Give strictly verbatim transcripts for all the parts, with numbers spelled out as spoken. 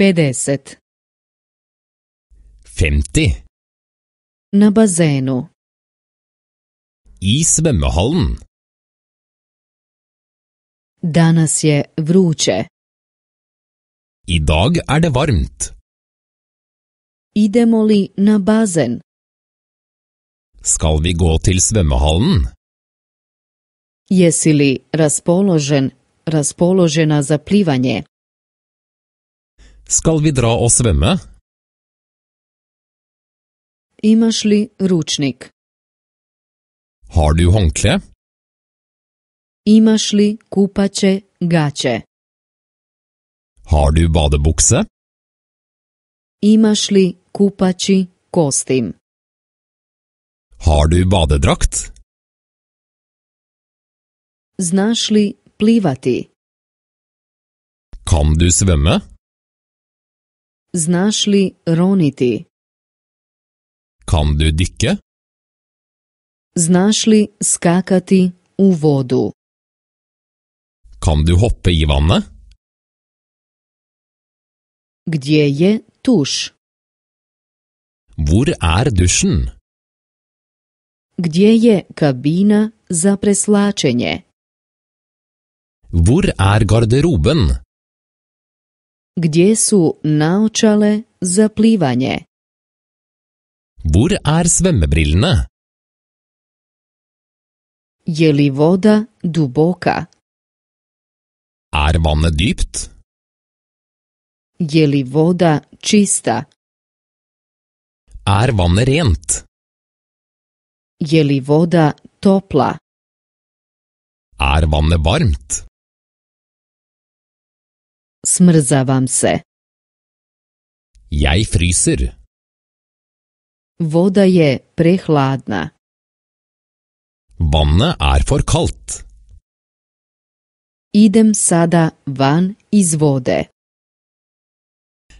pedeset. femti. Na bazenu. I svømmehallen. Danas je vruće. I dag er det varmt. Idemo li na bazen? Skal vi gå til svømmehallen? Jesi li raspoložen, raspoložena za plivanje? Skal vi dra og svømme? Imaš li ručnik? Har du håndkle? Imaš li kupaće gaće? Har du badebukse? Imaš li kupaći kostim? Har du badedrakt? Znaš li plivati? Kan du svømme? Znaš li roniti? Kan du dykke? Znaš li skakati u vodu? Kan du hoppe i vannet? Gdje je tuš? Hvor er dusjen? Gdje je kabina za preslačenje? Hvor er garderoben? Gdje su naočale za plivanje? Hvor er svømmebrillene? Je li voda duboka? Er vannet dypt? Je li voda čista? Er vannet rent? Je li voda topla? Er vannet varmt? Smrzavam se. Jeg fryser. Voda je prehladna. Vannet er for kaldt. Idem sada van iz vode.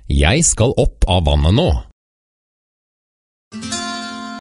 Jeg skal opp av vannet nå.